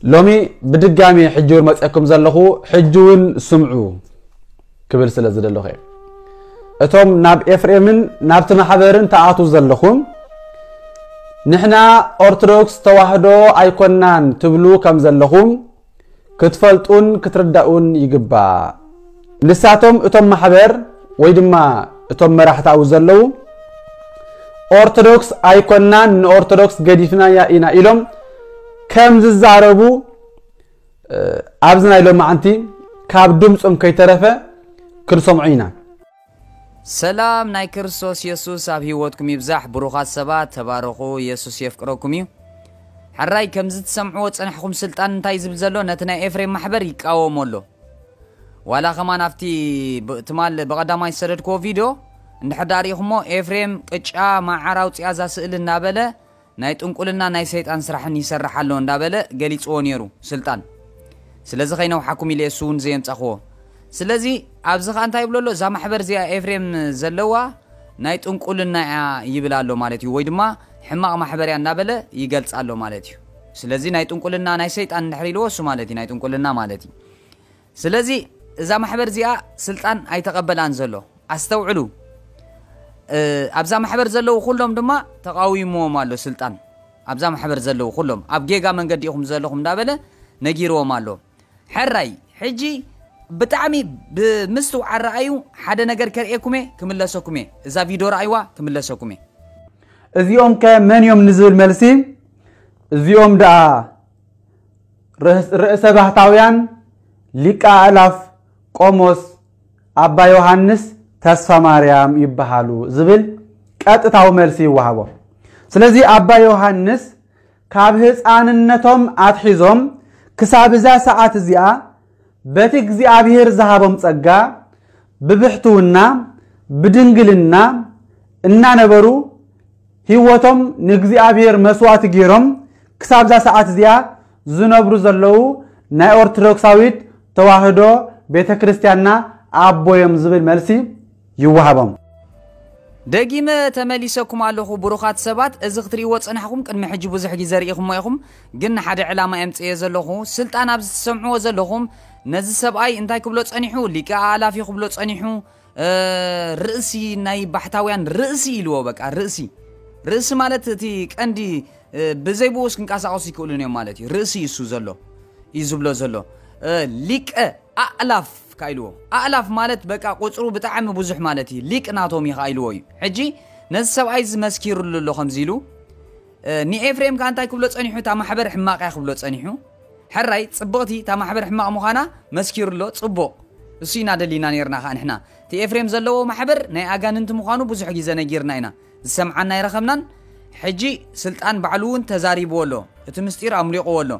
ሎሚ ብድጋሚ ሕጂ እውን መፅአኩም ዘለኹ፣ ሕጂ እውን ስምዑ ክብል ስለ ዝደለኹ እየ። እቶም ናብ ኤፍሬምን ናብቲ ማሕበርን ተኣትዉ ዘለኹም፣ ንሕና ኦርቶዶክስ ተዋህዶ ኣይኮናን ትብሉ ከም ዘለኹም ክትፈልጡን ክትርዳኡን ይግባእ። ንሳቶም እቶም ማሕበር ወይ ድማ እቶም መራሕቲ ኣብኡ ዘለዉ ኦርቶዶክስ ኣይኮናን፣ ንኦርቶዶክስ ገዲፍናያ ኢና ኢሎም ከም ዝዛረቡ ኣብዚ ናይ ሎማዓንቲ ካብ ድምፆም ከይተረፈ ክንሰምዖ ኢና። ሰላም ናይ ክርስቶስ የሱስ ኣብ ህይወትኩም ይብዛሕ። ብሩኻት ሰባት ተባረኹ፣ የሱስ የፍቅረኩም እዩ። ሕራይ ከምዚ ትሰምዕዎ ጸናሕኹም ስልጣን እንታይ ዝብል ዘሎ ነቲ ናይ ኤፍሬም ማሕበር ይቃወሞ ኣሎ። ዋላ ከማን ኣብቲ ብ- ትማል ብቐዳማይ ዝሰደድክዎ ቪድዮ እንድሕር ዳኣ ርኢኹሞ ኤፍሬም ቅጫ ማዓር ኣውፅያ እዛ ስእሊ እናበለ ናይ ጥንቁልና ናይ ሰይጣን ስራሕን ይሰርሕ ኣሎ እንዳበለ ገሊፅዎ ነይሩ ስልጣን። ስለዚ ከይነውሓኩም ኢለ እሱ እውን ዘየምፃኽዎ። ስለዚ ኣብዚ ኸዓ እንታይ ይብሎ ኣሎ? እዛ ማሕበር እዚኣ ኤፍሬም ዘለዋ ናይ ጥንቁልና እያ ይብል ኣሎ ማለት እዩ፣ ወይ ድማ ሕማቕ ማሕበር እያ እናበለ ይገልፃ ኣሎ ማለት እዩ። ስለዚ ናይ ጥንቁልና ናይ ሰይጣን እንድሕር ኢልዎ እሱ ማለት እዩ ናይ ጥንቁልና ማለት እዩ። ስለዚ እዛ ማሕበር እዚኣ ስልጣን ኣይተቐበላን ዘሎ። ኣስተውዕሉ። እ፣ ኣብዛ ማሕበር ዘለዉ ኩሎም ድማ ተቃዊምዎም ኣሎ ስልጣን። ኣብዛ ማሕበር ዘለዉ ኩሎም ኣብ ጌጋ መንገዲ ኢኹም ዘለኹም እንዳበለ ነጊርዎም ኣሎ። ሕራይ ሕጂ ብጣዕሚ ብምስትውዓል ረኣዩ። ሓደ ነገር ከርእየኩም እየ፣ ክምለሰኩም እየ። እዛ ቪድዮ ረኣይዋ፣ ክምለሰኩም እየ። እዚኦም ከ መን እዮም ንዝብል መልሲ፣ እዚኦም ደኣ ርእስ- ርእሰ ባህታውያን ሊቀ ኣእላፍ ቆሞስ ኣባ ዮሃንስ ተስፋ ማርያም ይበሃሉ ዝብል ቀጥታዊ መልሲ ይወሃቦ። ስለዚ ኣባ ዮሃንስ ካብ ህፃንነቶም ኣትሒዞም ክሳብ እዛ ሰዓት እዚኣ በቲ እግዚኣብሔር ዝሃቦም ጸጋ ብብሕትውና ብድንግልና እናነበሩ ህይወቶም ንእግዚኣብሔር መስዋዕቲ ገይሮም ክሳብዛ ሰዓት እዚኣ ዝነብሩ ዘለዉ ናይ ኦርቶዶክሳዊት ተዋህዶ ቤተ ክርስቲያንና ኣቦ እዮም ዝብል መልሲ ይወሃቦም። ደጊመ ተመሊሰኩም ኣለኹ ብሩኻት ሰባት። እዚ ክትርእይዎ ጸናሕኩም ቅድሚ ሕጂ ብዙሕ ግዜ ርኢኹሞ ኢኹም፣ ግን ንሓደ ዕላማ የምጽእየ ዘለኹ። ስልጣን ኣብዚ ትሰምዕዎ ዘለኹም ነዚ ሰብኣይ እንታይ ክብሎ ጸኒሑ? ሊቀ ኣእላፍ እዩ ክብሎ ጸኒሑ። እ፣ ርእሲ ናይ ባሕታውያን ርእሲ ኢልዎ፣ በቃ ርእሲ። ርእሲ ማለት እቲ ቀንዲ፣ እ፣ ብዘይ ብኡስ ክንቀሳቐሱ ይክእሉን እዮም ማለት እዩ። ርእሲ እዩ እሱ ዘሎ እዩ ዝብሎ ዘሎ። እ፣ ሊቀ ኣእላፍ ካ ኢልዎ። ኣእላፍ ማለት በቃ ቁፅሩ ብጣዕሚ ብዙሕ ማለት እዩ። ሊቅ ናቶም እዩ ካ ኢልዎ እዩ። ሕጂ ነዚ ሰብኣይ እዚ መስኪሩሉ ኣሎ ከምዚ ኢሉ። እ፣ ንኤፍሬም ካ እንታይ ክብሎ ጸኒሑ? እታ ማሕበር ሕማቕ እያ ክብሎ ጸኒሑ። ሕራይ ጽብቕቲ እታ ማሕበር ሕማቕ ምዃና መስኪሩ ኣሎ። ጽቡቕ። እሱ ኢና ደሊና ነይርና ካ ንሕና። እቲ ኤፍሬም ዘለዎ ማሕበር ናይ ኣጋንንቲ ምዃኑ ብዙሕ ግዜ ነጊርና ኢና። ዝሰምዓና ኣይረኸብናን። ሕጂ ስልጣን ባዕሉ እውን ተዛሪብዎ ኣሎ። እቲ ምስጢር ኣምሊቕዎ ኣሎ።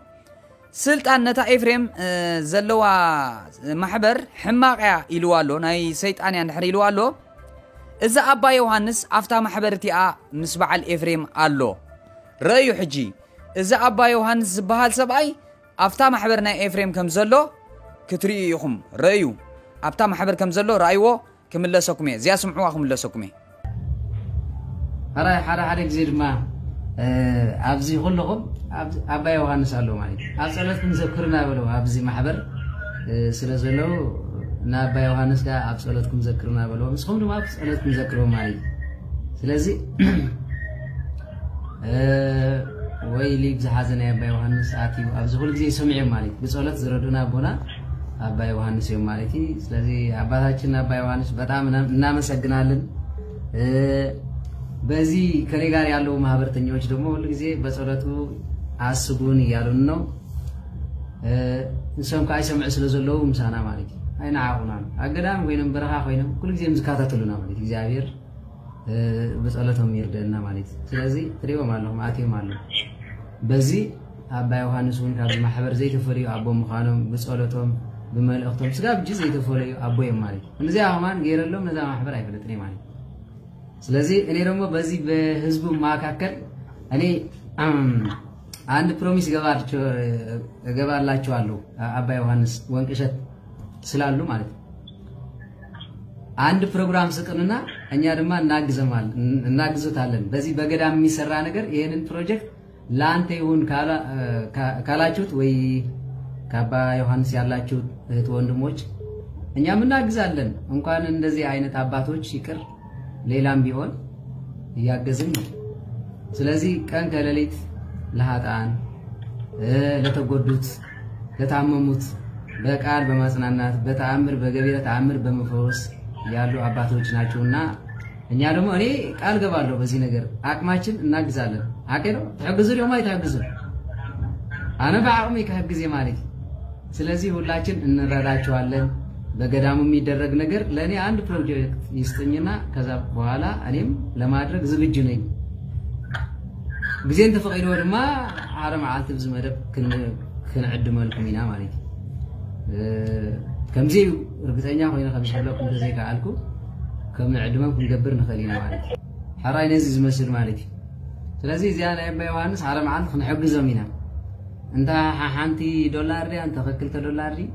ስልጣን ነታ ኤፍሬም፣ እ፣ ዘለዋ ማሕበር ሕማቕ እያ ኢልዋ ኣሎ። ናይ ሰይጣን እያ እንድሕር ኢልዋ ኣሎ። እዚ ኣባ ዮሃንስ ኣብታ ማሕበር እቲኣ ምስ በዓል ኤፍሬም ኣሎ። ረእዩ ሕጂ። እዚ ኣባ ዮሃንስ ዝበሃል ሰብኣይ ኣብታ ማሕበር ናይ ኤፍሬም ከም ዘሎ ክትርእዩ ኢኹም። ረእዩ። ኣብታ ማሕበር ከም ዘሎ ረኣይዎ። ክምለሰኩም እየ። እዚኣ ስምዕዋ ክምለሰኩም እየ። ሕራይ ሓደ ሓደ ግዜ ድማ፣ እ፣ ኣብዚ ኩለኹም ኣብ-፣ ኣባ ዮሃንስ ኣሎ ማለት እዩ። ኣብ ጸሎትኩም ዘክሩና በለው። ኣብዚ ማሕበር፣ እ፣ ስለ ዘለዉ ንኣባ ዮሃንስ ከኣ ኣብ ጸሎትኩም ዘክሩና በለው። ንስኹም ድማ ኣብ ጸሎትኩም ዘክርዎም ማለት እዩ። ስለዚ፣ እ፣ ወይ ሊግ ዝሓዘ ናይ ኣባ ዮሃንስ ኣትዩ ኣብዚ ኩሉ ግዜ ይሰምዑ እዮም ማለት እዩ። ብጸሎት ዝረዱና ኣቦና ኣባ ዮሃንስ እዮም ማለት እዩ። ስለዚ ኣባታችን ኣባ ዮሃንስ በጣም እና-፣ እናመሰግናለን። እ፣ በዚ ከኔ ጋር ያለው ማህበርተኛዎች ደግሞ ሁሉ ጊዜ በጸሎቱ አስቡን እያሉን ነው። እ፣ እሶም ከዓ ይሰምዑ ስለ ዘለዉ ምሳና ማለት እዩ። ኣይነዓቑናን። ኣብ ገዳም ኮይኖም በረኻ ኮይኖም ኩሉ ግዜ እዮም ዝከታተሉና ማለት እዩ። እግዚኣብሔር፣ እ፣ ብጸሎቶም ይርደእና ማለት እዩ። ስለዚ ትሪእዎም ኣለኹም፣ ኣትዮም ኣለዉ። በዚ ኣባ ዮሃንስ እውን ካብዚ ማሕበር ዘይተፈለዩ ኣቦ ምዃኖም፣ ብጸሎቶም፣ ብመልእኽቶም፣ ስጋብ ሕጂ ዘይተፈለዩ ኣቦ እዮም ማለት እዩ። እዚኣ ከማን ገይረሎም ነዛ ማሕበር ኣይፈልጥን እየ ማለት እዩ። ስለዚህ እኔ ደግሞ በዚህ በህዝቡ መካከል እኔ፣ እም፣ አንድ ፕሮሚስ እገባላችሁ-፣ እገባላችኋለሁ። አባ ዮሐንስ ወንቅሸት ስላሉ ማለት ነው። አንድ ፕሮግራም ስጡንና እኛ ድማ እናግዘማል-፣ እናግዞታለን። በዚህ በገዳም የሚሰራ ነገር ይሄንን ፕሮጀክት ለአንተ ይሁን ካላችሁት ወይ ከአባ ዮሐንስ ያላችሁት እህት ወንድሞች እኛም እናግዛለን። እንኳን እንደዚህ አይነት አባቶች ይቅር ሌላም ቢሆን እያገዝን ነው። ስለዚህ ቀን ከሌሊት ለሀጣን ለተጎዱት ለታመሙት በቃል በማጽናናት በተአምር በገቢረ ተአምር በመፈወስ ያሉ አባቶች ናቸውና እኛ ደግሞ እኔ ቃል ገባለሁ በዚህ ነገር አቅማችን እናግዛለን። አቀዶ ተሐግዙ ደግሞ አይተሐግዙ አነ በአቅሜ ከሐግዜ ማለት ስለዚህ ሁላችን እንረዳቸዋለን። በገዳሙ የሚደረግ ነገር ለእኔ አንድ ፕሮጀክት ይስጥኝና ከዛ በኋላ እኔም ለማድረግ ዝግጁ ነኝ። ግዜ እንተፈቒድዎ ድማ ሓደ መዓልቲ ብዚ መደብ ክንዕድመልኩም ኢና ማለት እዩ። ከምዚ እዩ ርግፀኛ ኮይነ ከም ዝሕለኩም እንተዘይከኣልኩ ከም ንዕድመም ክንገብር ንኽእል ኢና ማለት እዩ። ሕራይ ነዚ ዝመስል ማለት እዩ። ስለዚ እዚኣ ናይ ኣባ ዮሃንስ ሓደ መዓልቲ ክንሕግዞም ኢና። እንተ ሓንቲ ዶላር ድያ እንተ ክልተ ዶላር ድዩ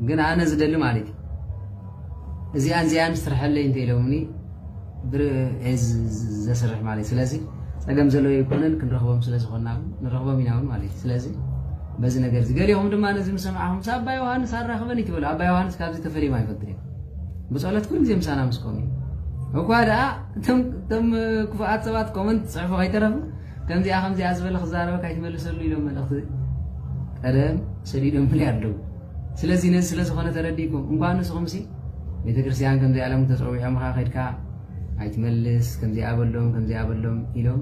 ግን ኣነ ዝደሊ ማለት እዩ። እዚኣን እዚኣን ስርሐለይ እንተ ኢሎምኒ ብር- እየ ዝ- ዝ- ዘስርሕ ማለት እዩ። ስለዚ ፀገም ዘለዎ ኣይኮነን ክንረኽቦም ስለ ዝኾንና ንረኽቦም ኢና እውን ማለት እዩ። ስለዚ በዚ ነገር እዚ ገሊኹም ድማ ነዚ ምስ ሰማዕኹም ሳባ ዮሃንስ ኣራኽበኒ ትበሉ። ኣባ ዮሃንስ ካብዚ ተፈልዮም ኣይፈልጥን እዮም። ብፀሎት ኩሉ ግዜ ምሳና ምስ ኮኑ እዩ። እኳ ደኣ እቶም እቶም ክፉኣት ሰባት ኮመንት ፅሕፉ ከይተረፉ ከምዚኣ ከምዚኣ ዝበለ ክዛረበካ ኣይትመልሰሉ ኢሎም መልእኽቲ ቀደም ሰዲዶምልይ ኣለዉ። ስለዚ ነዚ ስለ ዝኾነ ተረዲእኩም እንኳን ንስኹም ሲ ቤተክርስትያን ከምዚ ኣለሙ ተፀዊዖምኻ ከድካ ኣይትመልስ ከምዚኣ በሎም ከምዚኣ በሎም ኢሎም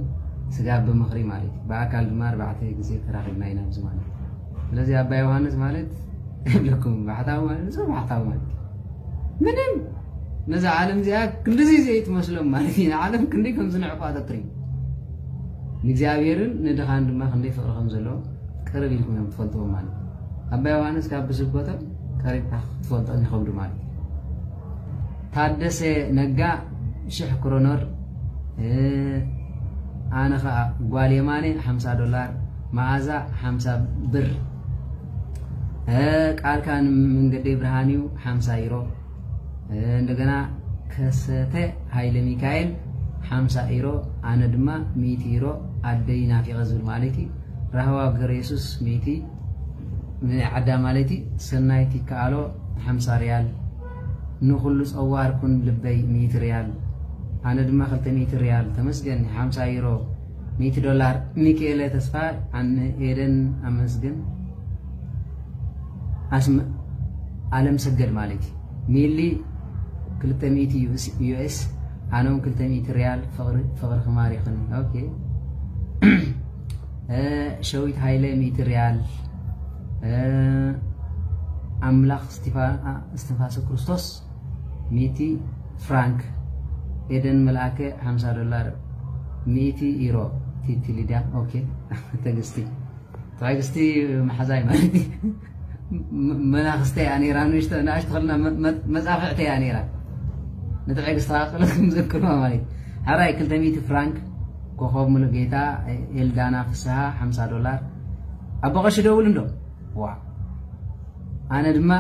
ስጋብ ብምኽሪ ማለት እዩ። ብኣካል ድማ ኣርባዕተ ግዜ ተራኺብና ኢና ኣብዚ ማለት እዩ። ስለዚ ኣባ ዮሃንስ ማለት ይብለኩም ባሕታዊ ማለት ንጹር ባሕታዊ ማለት እዩ። ምንም ነዛ ዓለም እዚኣ ክንድዚ ዘይትመስሎም ማለት እዩ። ንዓለም ክንደይ ከም ዝንዕቋ ተትሪ ንእግዚኣብሔርን ንድኻን ድማ ክንደይ ፍቕሪ ከም ዘለዎ ቅርብ ኢልኩም እዮም ትፈልጥዎም ማለት እዩ። ኣባ ዮሃንስ ካብ ብስብከቶም ቀሪብካ ክትፈልጦም ይኸብዱ ማለት እዩ። ታደሰ ነጋ ሽሕ ክሮኖር፣ ኣነ ኸዓ ጓል የማነ ሓምሳ ዶላር፣ መዓዛ ሓምሳ ብር፣ ቃልካ ንመንገደይ ብርሃን እዩ ሓምሳ ዩሮ፣ እንደገና ከሰተ ሃይለ ሚካኤል ሓምሳ ኢሮ፣ ኣነ ድማ ሚእቲ ኢሮ ኣደይ ናፊቐ ዝብል ማለት እዩ። ራህዋ ገብረ የሱስ ሚእቲ ንዓዳ ማለት እዩ። ሰናይት ይከኣሎ ሓምሳ ሪያል፣ ንኹሉ ጸዋር ኩን ልበይ ሚእቲ ሪያል፣ ኣነ ድማ ክልተ ሚእቲ ሪያል። ተመስገን ሓምሳ ኢሮ፣ ሚእቲ ዶላር። ሚካኤለ ተስፋ ኣነ ኤደን ኣመስግን ኣለም ሰገድ ማለት እዩ። ሚሊ ክልተ ሚእቲ ዩኤስ ኣነ እውን ክልተ ሚእቲ ሪያል ፍቕርኺ ማሪኽኒ። ኦኬ ሸዊት ሃይለ ሚእቲ ሪያል ኣምላኽ እስትንፋሰ ክርስቶስ ሚእቲ ፍራንክ ኤደን መልኣከ ሓምሳ ዶላር ሚእቲ ኢሮ ቲቲ ሊዳ። ኦኬ ተግስቲ ትዕግስቲ መሓዛይ ማለት እዩ። መናኽስተ እያ ነይራ ንእሽቶ ንኣሽቶ ከልና መፃፍዕተ እያ ነይራ። ንትዕግስቲ ቃቅለት ምዘክርዋ ማለት እዩ። ሕራይ ክልተ ሚእቲ ፍራንክ ኮኸብ ሙሉ ጌታ ኤልዳና ፍስሃ ሓምሳ ዶላር ኣቦ ቀሺ ደውል እንዶ ዋ ኣነ ድማ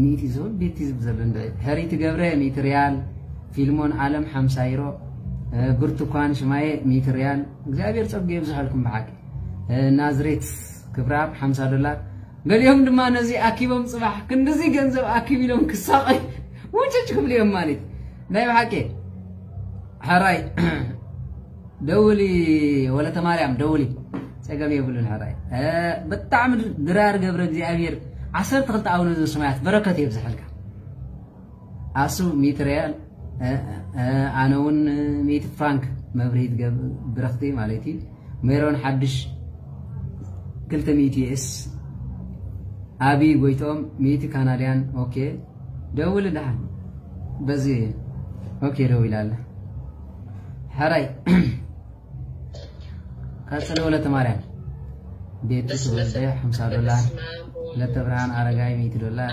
ሚእቲ ዝብል ቤቲ ዝብል ዘሎ እንደ ሕሪቲ ገብረ ሚእቲ ሪያል ፊልሞን ዓለም ሓምሳ ዩሮ ብርቱኳን ሽማየ ሚእቲ ሪያል እግዚኣብሔር ጸጉ የብዝሐልኩም ብሓቂ ናዝሬት ክብራብ ሓምሳ ዶላር ገሊኦም ድማ ነዚ ኣኪቦም ጽባሕ ክንድዚ ገንዘብ ኣኪብ ኢሎም ክሳቐይ ውጭጭ ክብሉ እዮም ማለት ናይ ብሓቂ ሕራይ ደውሊ ወለተ ማርያም ደውሊ ጸገም የብሉን ሕራይ ብጣዕሚ ድራር ገብረ እግዚኣብሔር ዓሰርተ ክልተ ኣቡነ ዘሰማያት በረከት የብዝሐልካ ኣሱ ሚእቲ ሪያል ኣነ እውን ሚእቲ ፍራንክ መብርሂት ብረኽቲ ማለት እዩ ሜሮን ሓድሽ ክልተ ሚእቲ ዩኤስ ኣብይ ጎይቶም ሚእቲ ካናድያን ኦኬ ደውል ደሓን በዚ ኦኬ ደውል ኣለ ሕራይ ቀጽል ወለተ ማርያም ቤቲ ተወልደ ሓምሳ ዶላር ለተ ብርሃን ኣረጋይ ሚእቲ ዶላር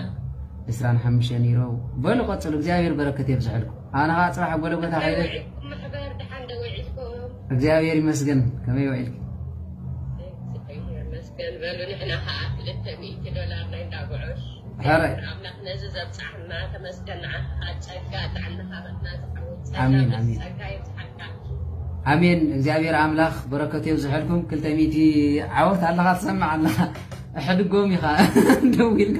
ዕስራን ሓሙሽተን ዩሮ በሉ ቀጽሉ እግዚኣብሔር በረከት የብዝሐልኩም ኣነ ከዓ ፅባሕ ጎለጎታ ከይደ እግዚኣብሔር ይመስገን ከመይ ውዒልኪ ሕራይ ኣምላኽ ነዚ ዘብጻሕና ተመስገን ንዓኻ ጸጋ ጥዕናኻ በትና ዝዓወት ኣሜን ኣሜን ጸጋ ይብዝሓልካ ኣሜን። እግዚኣብሔር ኣምላኽ በረከቱ የብዝሐልኩም። ክልተ ሚእቲ ዓወት ኣለኻ ትሰምዕ ኣለኻ። እሕድጎም ኢኻ ደዊልካ።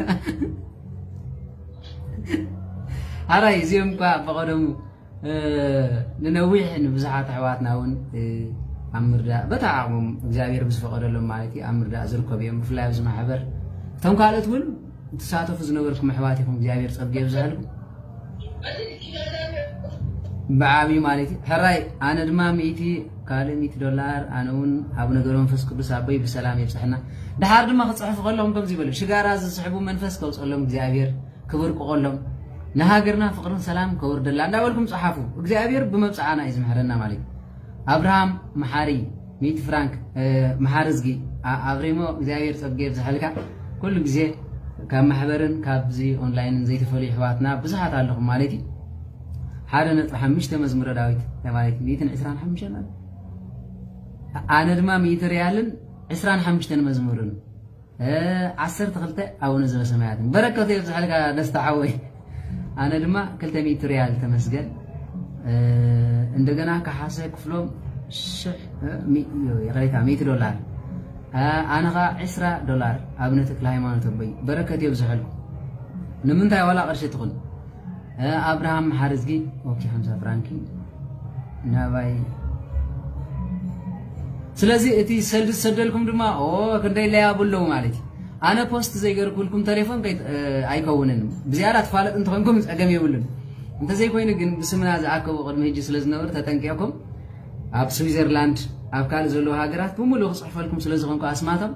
ሓራይ እዚኦም እኳ በቐደሙ ንነዊሕ ንብዙሓት ኣሕዋትና እውን ኣብ ምርዳእ በታ ዓቕሞም እግዚኣብሔር ብዝፈቐደሎም ማለት እዩ ኣብ ምርዳእ ዝርከቡ እዮም። ብፍላይ ኣብዚ ማሕበር እቶም ካልኦት እውን ትሳተፉ ዝነበርኩም ኣሕዋት ኢኹም። እግዚኣብሔር ጸጋ የብዝሐልኩም። ብዓብዩ ማለት እዩ። ሕራይ ኣነ ድማ ሚእቲ ካልእ ሚእቲ ዶላር ኣነ እውን ኣብ ነገር መንፈስ ቅዱስ ኣቦይ ብሰላም የብፅሕና። ድሓር ድማ ክፅሕፉ ከለኹም ከምዚ ይበሉ፣ ሽጋራ ዝስሕቡ መንፈስ ከውፀሎም እግዚኣብሔር ክብርቅቆሎም፣ ንሃገርና ፍቅርን ሰላም ከውርደላ እንዳበልኩም ፀሓፉ። እግዚኣብሔር ብመብፅዓና እዩ ዝምሕረና ማለት እዩ። ኣብርሃም መሓሪ ሚእቲ ፍራንክ መሓሪ ዝጊ ኣብሬሞ እግዚኣብሔር ፀብጌ ብዝሓልካ ኩሉ ግዜ ካብ ማሕበርን ካብዚ ኦንላይንን ዘይተፈልዩ ኣሕዋትና ብዙሓት ኣለኹም ማለት እዩ። ሓደ ነጥቢ ሓሙሽተ መዝሙረ ዳዊት ማለት እዩ። ሚእትን ዕስራን ሓሙሽተን ማለት ኣነ ድማ ሚእቲ ሪያልን ዕስራን ሓሙሽተን መዝሙርን ዓሰርተ ክልተ ኣቡነ ዘበሰማያትን በረከቱ የብዝሓልካ ደስታ ሓወይ። ኣነ ድማ ክልተ ሚእቲ ሪያል ተመስገን። እንደገና ካሓሰ ክፍሎም ሽሕ ይቕሬታ ሚእቲ ዶላር ኣነ ኸዓ ዕስራ ዶላር። ኣብነ ተክለ ሃይማኖት ኣቦይ በረከት የብዝሐልኩም። ንምንታይ ዋላ ቅርሺ ትኹን ኣብርሃም ሓርዝጊ ኦኬ ሓምሳ ፍራንኪ ናባይ። ስለዚ እቲ ሰልዲ ዝሰደልኩም ድማ ክንደይ ለያቡ ኣለዉ ማለት እዩ። ኣነ ፖስት ዘይገርኩልኩም ቴሌፎን ኣይከውንን። ብዝያዳ ትፋለጥ እንተኾንኩም ፀገም የብሉን። እንተዘይኮይኑ ግን ብስምና ዝኣከቡ ቅድሚ ህጂ ስለ ዝነበሩ ተጠንቂቕኩም ኣብ ስዊዘርላንድ ኣብ ካልእ ዘለዉ ሃገራት ብምሉእ ክፅሕፈልኩም ስለ ዝኾንኩ ኣስማቶም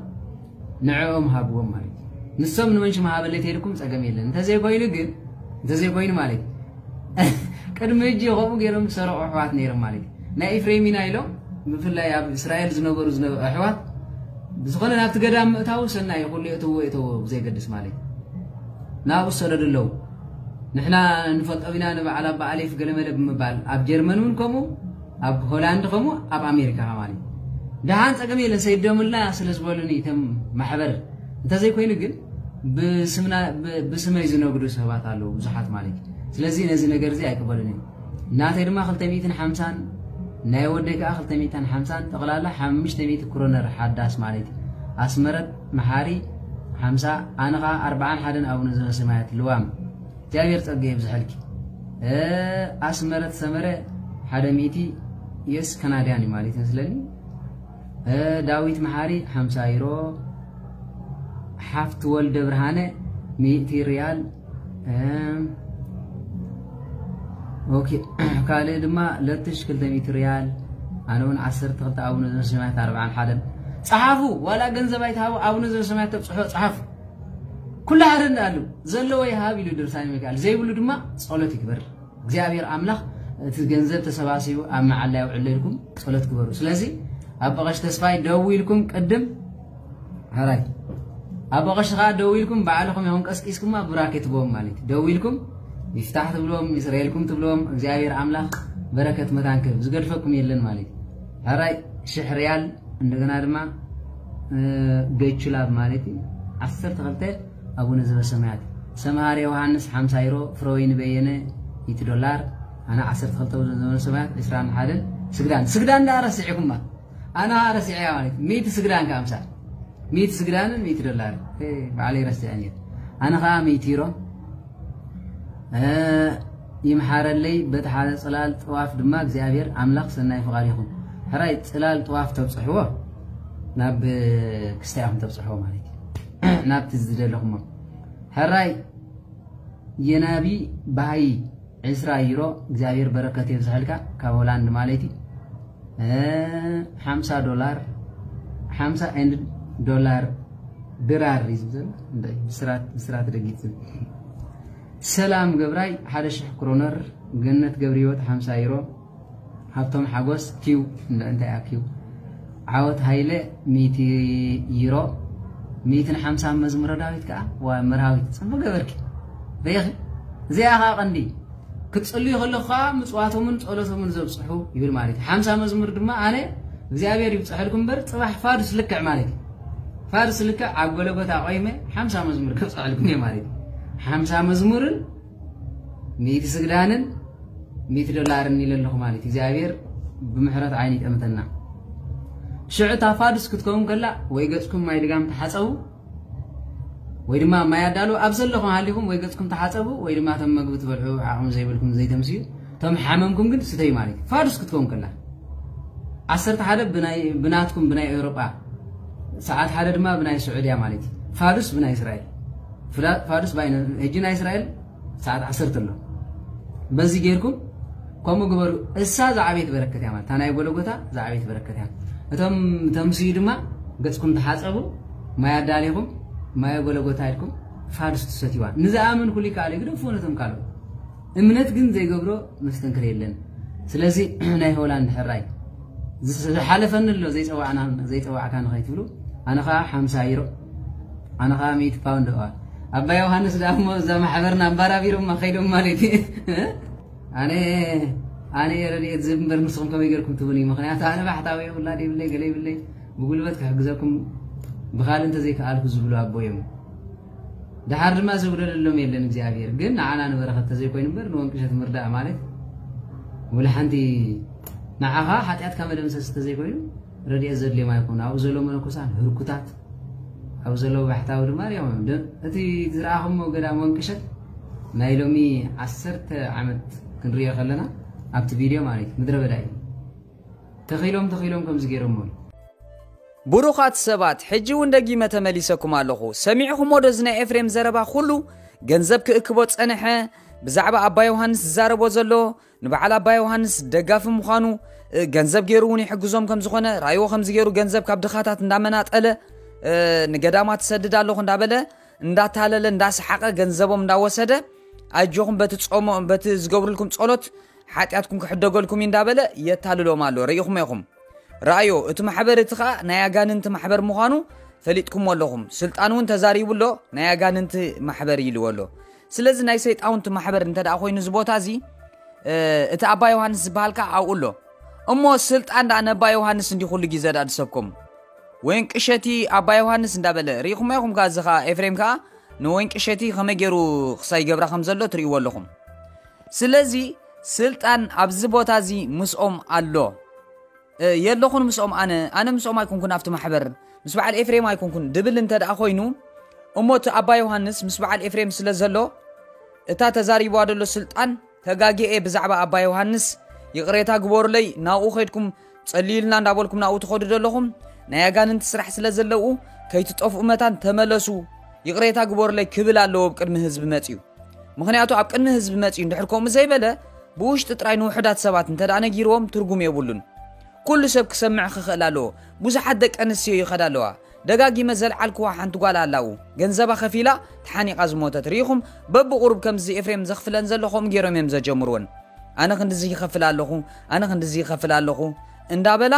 ንዕኦም ሃብዎም ማለት እዩ። ንሶም ንመንሽም ሃበለይ ተይልኩም ፀገም የለን። እንተዘይኮይኑ ግን እንተዘይኮይኑ ማለት እዩ ቅድሚ ህጂ ከምኡ ገይሮም ዝሰረቑ ኣሕዋት ነይሮም ማለት እዩ። ናይ ኢፍሬም ኢና ኢሎም ብፍላይ ኣብ እስራኤል ዝነበሩ ዝነበ ኣሕዋት ብዝኾነ ናብቲ ገዳም ምእታው ሰናይ እዩ። ኩሉ የእትዎ የተዎ ብዘይገድስ ማለት እዩ ናብኡ ዝሰደዱ ኣለዉ። ንሕና ንፈልጦም ኢና ንበዓል ኣባ ኣሌፍ ገለመለ ብምባል ኣብ ጀርመን እውን ከምኡ ኣብ ሆላንድ ከምኡ ኣብ ኣሜሪካ ከማን እዩ። ደሓን ፀገም የለን ሰይዶምልና ስለ ዝበሉኒ እቶም ማሕበር እንተዘይኮይኑ ግን ብስምና ብስመይ ዝነግዱ ሰባት ኣለዉ ብዙሓት ማለት እዩ። ስለዚ ነዚ ነገር እዚ ኣይቅበልን እዩ። ናተይ ድማ ክልተ ሚእትን ሓምሳን ናይ ወደይ ከዓ ክልተ ሚእትን ሓምሳን ጠቕላላ ሓሙሽተ ሚእቲ ክሮነር ሓዳስ ማለት እዩ። ኣስመረት መሓሪ ሓምሳ ኣነ ከዓ ኣርባዓን ሓደን ኣቡነ ዘበሰማያት ልዋም እግዚኣብሔር ጸጋ የብዝሐልኪ። ኣስመረት ሰመረ ሓደ ሚእቲ የስ ካናድያን እዩ ማለት መስለኒ። ዳዊት መሓሪ ሓምሳ ዩሮ። ሓፍቲ ወልደ ብርሃነ ሚእቲ ሪያል። ኦኬ ካልእ ድማ ለትሽ ክልተ ሚእቲ ሪያል። ኣነ እውን ዓሰርተ ክልተ ኣቡነ ዘበሰማያት ኣርባዓን ሓደን። ጸሓፉ ዋላ ገንዘብ ኣይትሃቡ ኣቡነ ዘበሰማያት ተብጽሖ ጸሓፉ። ኩሉ ሓደ እንዳኣሉ ዘለዎ ይሃብ ኢሉ ድርሳን ሚካኤል ዘይብሉ ድማ ጸሎት ይግበር። እግዚኣብሔር ኣምላኽ እቲ ገንዘብ ተሰባሲቡ ኣብ መዓላ የውዕለልኩም። ጸሎት ግበሩ። ስለዚ ኣቦ ቀሽ ተስፋይ ደው ኢልኩም ቅድም ሕራይ ኣቦ ቀሽ ከዓ ደው ኢልኩም ባዕልኹም ይኹን ቀስቂስኩማ ቡራኬ ትቦም ማለት እዩ። ደው ኢልኩም ይፍታሕ ትብሎም ይስረየልኩም ትብሎም እግዚኣብሔር ኣምላኽ በረከት መታን ክህብ ዝገድፈኩም የለን ማለት እዩ። ሕራይ ሽሕ ሪያል እንደገና ድማ ገቹላብ ማለት እዩ። ዓሰርተ ክልተ ኣቡነ ዘበሰማያት ሰምሃር ዮሃንስ ሓምሳ ዩሮ ፍረወይኒ በየነ ሚእቲ ዶላር ኣነ ዓሰርተ ክልተ ኣቡነ ዘበሰማያት ዕስራን ሓደን ስግዳን ስግዳን ዳ ረሲዕኩማ ኣነ ረሲዐያ ማለት ሚእቲ ስግዳን ከኣምሳ ሚእቲ ስግዳንን ሚእቲ ዶላር ባዕለይ ረሲዐ ነይረ ኣነ ከዓ ሚእቲ ዩሮ ይምሓረለይ በቲ ሓደ ፅላል ጥዋፍ ድማ እግዚኣብሔር ኣምላኽ ሰናይ ፍቓድ ይኹን። ሕራይ ፅላል ጥዋፍ ተብፅሕዎ ናብ ክስታይ ኢኹም ተብፅሕዎ ማለት እዩ ናብቲ ዝደለኹሞ። ሕራይ የናቢ ባህይ ዕስራ ዩሮ እግዚኣብሔር በረከት የብዝሐልካ ካብ ሆላንድ ማለት እዩ። ሓምሳ ዶላር ሓምሳ ኤንድ ዶላር ድራር እዩ ዝብል ብስራት ደጊት ዝብል ሰላም ገብራይ ሓደ ሽሕ ክሮነር ገነት ገብርሂወት ሓምሳ ዩሮ ሃብቶም ሓጎስ ኪው እንታይ እያ ኪው ዓወት ሃይለ ሚእቲ ዩሮ ሚእትን ሓምሳን መዝሙረ ዳዊት ከዓ ዋ መርሃዊት ፅቡቅ ገበርኪ ሪኢኺ እዚኣ ከዓ ቀንዲ ክትፅልዩ ከለኹ ከዓ ምፅዋቶምን ፀሎቶምን ዘብፅሑ ይብል ማለት እዩ ሓምሳ መዝሙር ድማ ኣነ እግዚኣብሔር ይብፅሐልኩም እምበር ፅባሕ ፋዱስ ልክዕ ማለት እዩ ፋዱስ ልክዕ ኣብ ጎለጎታ ቆይመ ሓምሳ መዝሙር ከብፅሐልኩም እየ ማለት እዩ ሓምሳ መዝሙርን ሚእቲ ስግዳንን ሚእቲ ዶላርን ኢለ ኣለኹ ማለት እዩ እግዚኣብሔር ብምሕረት ዓይኒ ይጠምተና። ሽዑ እታ ፋዱስ ክትከውን ከላ ወይ ገጽኩም ማይ ልጋም ተሓጸቡ፣ ወይ ድማ ማይ ኣዳሉ ኣብ ዘለኹም ሃሊኹም ወይ ገጽኩም ተሓጸቡ፣ ወይ ድማ እቶም መግቢ ትበልዑ ዓቕሚ ዘይብልኩም ዘይተምስዩ፣ እቶም ሓመምኩም ግን ስተዩ ማለት እዩ። ፋዱስ ክትከውን ከላ ዓሰርተ ሓደ ብናይ ብናትኩም ብናይ ኤውሮጳ ሰዓት ሓደ ድማ ብናይ ስዑድያ ማለት እዩ። ፋዱስ ብናይ እስራኤል ፍላ- ፋዱስ ባይ ሕጂ ናይ እስራኤል ሰዓት ዓሰርተ ኣሎ። በዚ ጌርኩም ከምኡ ግበሩ። እሳ ዝዓበየት በረከት እያ ማለት እታ ናይ ጎለጎታ ዝዓበየት በረከት እያ። እቶም ተምስዩ ድማ ገጽኩም ተሓጸቡ፣ ማይ ኣዳሊኹም ማይ ጎለጎታ ኢልኩም ፋዱስ ትሰትይዋ። ንዝኣምን ኩሉ ይከኣል እዩ፣ ግደፉ ነቶም ካልኦት። እምነት ግን ዘይገብሮ መስተንክር የለን። ስለዚ ናይ ሆላንድ ሕራይ ዝስ- ዝሓለፈኒ ኣሎ ዘይጸዋዕና ዘይጸዋዕካ ንኸይትብሉ ኣነ ኸዓ ሓምሳ ዩሮ ኣነ ኸዓ ሚእቲ ፓውንድ እዋ ኣባ ዮሃንስ ደኣ እሞ እዛ ማሕበርና ኣባራቢሮማ ኸይዶም ማለት እዩ። ኣነ ኣነ እየ ረድኤት ዝህብ እምበር ንስኹም ከመይ ጌርኩም ትብሉኒ? ምኽንያቱ ኣነ ባሕታዊ እየ ውላድ የብለይ ገለ የብለይ ብጉልበት ክሕግዘኩም ብኻልእ እንተዘይከኣልኩ ዝብሉ ኣቦ እዮም። ደሓር ድማ ዝጉደለሎም የለን እግዚኣብሔር ግን ንዓና ንበረኸት ተዘይኮይኑ እምበር ንወንቅሸት ምርዳእ ማለት ወላ ሓንቲ ንዓኻ ሓጢኣትካ መደምሰስ ተዘይኮይኑ ረድኤት ዘድልዮም ኣይኮኑ ኣብኡ ዘሎ መነኮሳት ህርኩታት ኣብኡ ዘለዉ ባሕታዊ ድማ ሪኦም እዮም ደ- እቲ ዝረኣኹሞ ገዳም ወንቅሸት ናይ ሎሚ ዓሰርተ ዓመት ክንሪኦ ከለና ኣብቲ ቪድዮ ማለት እዩ ምድረ በዳ እዩ ተኺሎም ተኺሎም ከምዚ ገይሮሞ እዩ ብሩኻት ሰባት ሕጂ እውን ደጊመ ተመሊሰኩም ኣለኹ። ሰሚዕኹሞ ዶ እዚ ናይ ኤፍሬም ዘረባ ኩሉ? ገንዘብ ክእክቦ ጸንሐ። ብዛዕባ ኣባ ዮሃንስ ዝዛረቦ ዘሎ ንበዓል ኣባ ዮሃንስ ደጋፊ ምዃኑ እ፣ ገንዘብ ገይሩ እውን ይሕግዞም ከም ዝኾነ ራእይዎ ከምዚ ገይሩ ገንዘብ ካብ ድኻታት እንዳመናጠለ እ፣ ንገዳማት ትሰድድ ኣለኹ እንዳበለ እንዳታለለ እንዳሰሓቐ ገንዘቦም እንዳወሰደ ኣጆኹም በቲ ጾሞ በቲ ዝገብሩልኩም ጸሎት ሓጢኣትኩም ክሕደገልኩም እዩ እንዳበለ የታልሎም ኣሎ። ርኢኹም ኢኹም። ረኣዮ፣ እቲ ማሕበር እቲ ኸኣ ናይ ኣጋንንቲ ማሕበር ምዃኑ ፈሊጥኩሞ ኣለኹም። ስልጣን እውን ተዛሪቡ ኣሎ፣ ናይ ኣጋንንቲ ማሕበር ኢልዎ ኣሎ። ስለዚ ናይ ሰይጣውንቲ ማሕበር እንተ ደኣ ኮይኑ እዚ ቦታ እዚ እ፣ እቲ ኣባ ዮሃንስ ዝበሃል ከኣ ኣብኡ ኣሎ። እሞ ስልጣን ደኣ ነባ ዮሃንስ እንዲ ኩሉ ግዜ ደኣ ዝሰብኮም ወይን ቅሸቲ ኣባ ዮሃንስ እንዳበለ ርኢኹም ኢኹም ከኣ እዚ ከኣ ኤፍሬም ከኣ ንወይን ቅሸቲ ከመይ ገይሩ ክሳይ ገብራ ከም ዘሎ ትርእይዎ ኣለኹም። ስለዚ ስልጣን ኣብዚ ቦታ እዚ ምስኦም ኣሎ። የለኹን ምስኦም ኣነ ኣነ ምስኦም ኣይኮንኩን ኣብቲ ማሕበር ምስ በዓል ኤፍሬም ኣይኮንኩን ድብል እንተ ደኣ ኮይኑ እሞ እቲ ኣባ ዮሃንስ ምስ በዓል ኤፍሬም ስለ ዘሎ እታ ተዛሪብዋ ደሎ ስልጣን ተጋጊኤ ብዛዕባ ኣባ ዮሃንስ ይቕሬታ ግበሩለይ ናብኡ ኸይድኩም ጸልዩልና እንዳበልኩም ናብኡ ትኸዱ ዘለኹም ናይ ኣጋንንቲ ስራሕ ስለ ዘለዉ ከይትጠፍኡ መታን ተመለሱ ይቕሬታ ግበሩለይ ክብል ኣለዎ ኣብ ቅድሚ ህዝቢ መጽዩ ምኽንያቱ ኣብ ቅድሚ ህዝቢ መጽዩ እንድሕር ከምኡ ዘይበለ ብውሽጢ ጥራይ ንውሑዳት ሰባት እንተ ደኣ ነጊርዎም ትርጉም የብሉን። ኩሉ ሰብ ክሰምዕ ክኽእል ኣለዎ። ብዙሓት ደቂ ኣንስትዮ ይኸዳ ኣለዋ። ደጋጊመ ዘልዓልክዋ ሓንቲ ጓል ኣላኡ ገንዘባ ከፊላ ተሓኒቓ ዝሞተት ርኢኹም በብቑሩብ ከምዚ ኤፍሬም ዘኽፍለን ዘሎ ከምኡ ገይሮም እዮም ዘጀምርወን ኣነ ክንድዚ ይኸፍል ኣለኹ ኣነ ክንድዚ ይኸፍል ኣለኹ እንዳበላ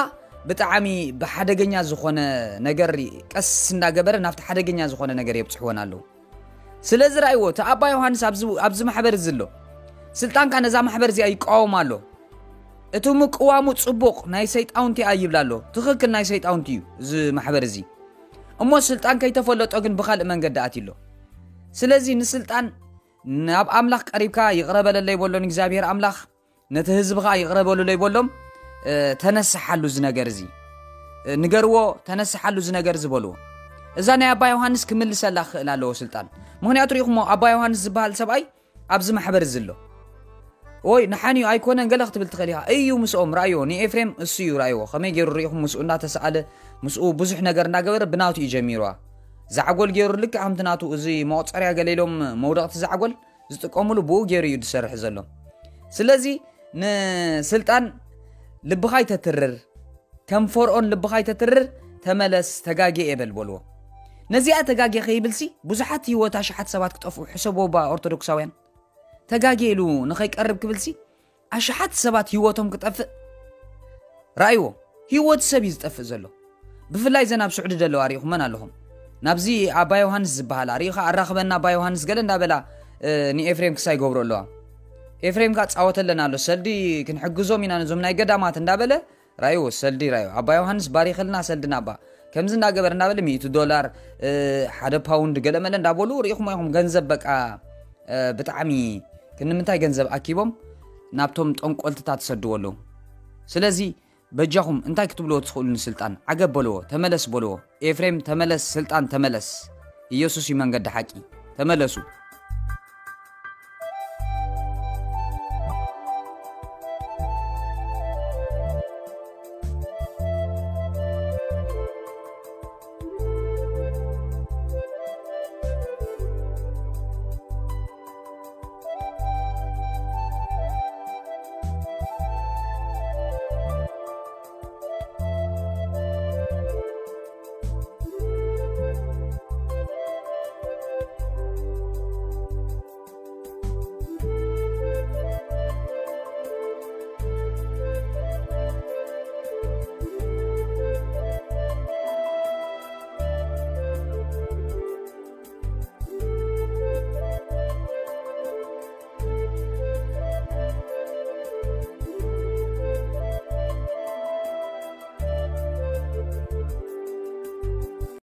ብጣዕሚ ብሓደገኛ ዝኾነ ነገር ቀስ እንዳገበረ ናብቲ ሓደገኛ ዝኾነ ነገር የብፅሕወን ኣለዉ ስለዚ ራእይዎ እቲ ኣባ ዮሃንስ ኣብዚ ማሕበር እዚ ኣሎ ስልጣንካ ነዛ ማሕበር እዚኣ ይቃወም ኣሎ እቲ ምቅዋሙ ፅቡቕ ናይ ሰይጣውንቲ እያ ይብል ኣሎ ትኽክል ናይ ሰይጣውንቲ እዩ እዚ ማሕበር እዚ እሞ ስልጣን ከይተፈለጦ ግን ብካልእ መንገዲ ኣትዩ ኣሎ ስለዚ ንስልጣን ናብ ኣምላኽ ቀሪብካ ይቕረ በለለይ በሎ ንእግዚኣብሔር ኣምላኽ ነቲ ህዝቢ ከዓ ይቕረ በሉለይ በሎም ተነስሓሉ እዚ ነገር እዚ ንገርዎ ተነስሓሉ እዚ ነገር እዚ በልዎ እዛ ናይ ኣባ ዮሃንስ ክምልሰላ ክኽእል ኣለዎ ስልጣን ምክንያቱ ርኢኹሞ ኣባ ዮሃንስ ዝበሃል ሰብኣይ ኣብዚ ማሕበር እዚ ኣሎ ወይ ንሓንዩ ኣይኮነን ገለ ክትብል ትኽእል ኢኻ እዩ ምስኦም ራእዮ ንኤፍሬም እሱ እዩ ራእይዎ ከመይ ገይሩ ርኢኹም ምስኡ እንዳተሰኣለ ምስኡ ብዙሕ ነገር እንዳገበረ ብናቱ እዩ ጀሚርዋ ዛዕጎል ገይሩ ልክዕ ከምቲ ናቱ እዚ መቑፀርያ ገለ ኢሎም መውደቕቲ ዛዕጎል ዝጥቀምሉ ብኡ ገይሩ እዩ ዝሰርሕ ዘሎ ስለዚ ንስልጣን ልብኻ ይተትርር ከም ፈርኦን ልብኻ ይተትርር ተመለስ ተጋጌ የበል በልዎ ነዚኣ ተጋጌ ከይብልሲ ብዙሓት ህይወት ኣሽሓት ሰባት ክጠፍኡ ሕሰቦ ባ ኦርቶዶክሳውያን ተጋጌ ኢሉ ንኸይቀርብ ክብልሲ ኣሽሓት ሰባት ህይወቶም ክጠፍእ ራእይዎ ህይወት ሰብ እዩ ዝጠፍእ ዘሎ ብፍላይ ዘን ኣብ ስዑዲ ዘለዋ ርኢኹመን ኣለኹም ናብዚ ኣባ ዮሃንስ ዝበሃላ ርኢኻ ኣራኽበና ኣባ ዮሃንስ ገለ እንዳበላ ንኤፍሬም ክሳይ ገብሮ ኣለዋ ኤፍሬም ከዓ ፃወተለን ኣሎ ሰልዲ ክንሕግዞም ኢና ነዞም ናይ ገዳማት እንዳበለ ራእይዎ ሰልዲ ራእይዎ ኣባ ዮሃንስ ባሪኸልና ሰልዲ ናባ ከምዚ እንዳገበር እንዳበለ ሚእቲ ዶላር ሓደ ፓውንድ ገለመለ እንዳበሉ ርኢኹም ኢኹም ገንዘብ በቃ ብጣዕሚ ክንምንታይ ገንዘብ ኣኪቦም ናብቶም ጠንቆልትታት ትሰድዎ ኣለዉ ስለዚ በጃኹም እንታይ ክትብልዎ ትኽእሉ ንስልጣን? ዓገብ በልዎ፣ ተመለስ በልዎ። ኤፍሬም ተመለስ፣ ስልጣን ተመለስ። ኢየሱስ እዩ መንገዲ ሓቂ። ተመለሱ።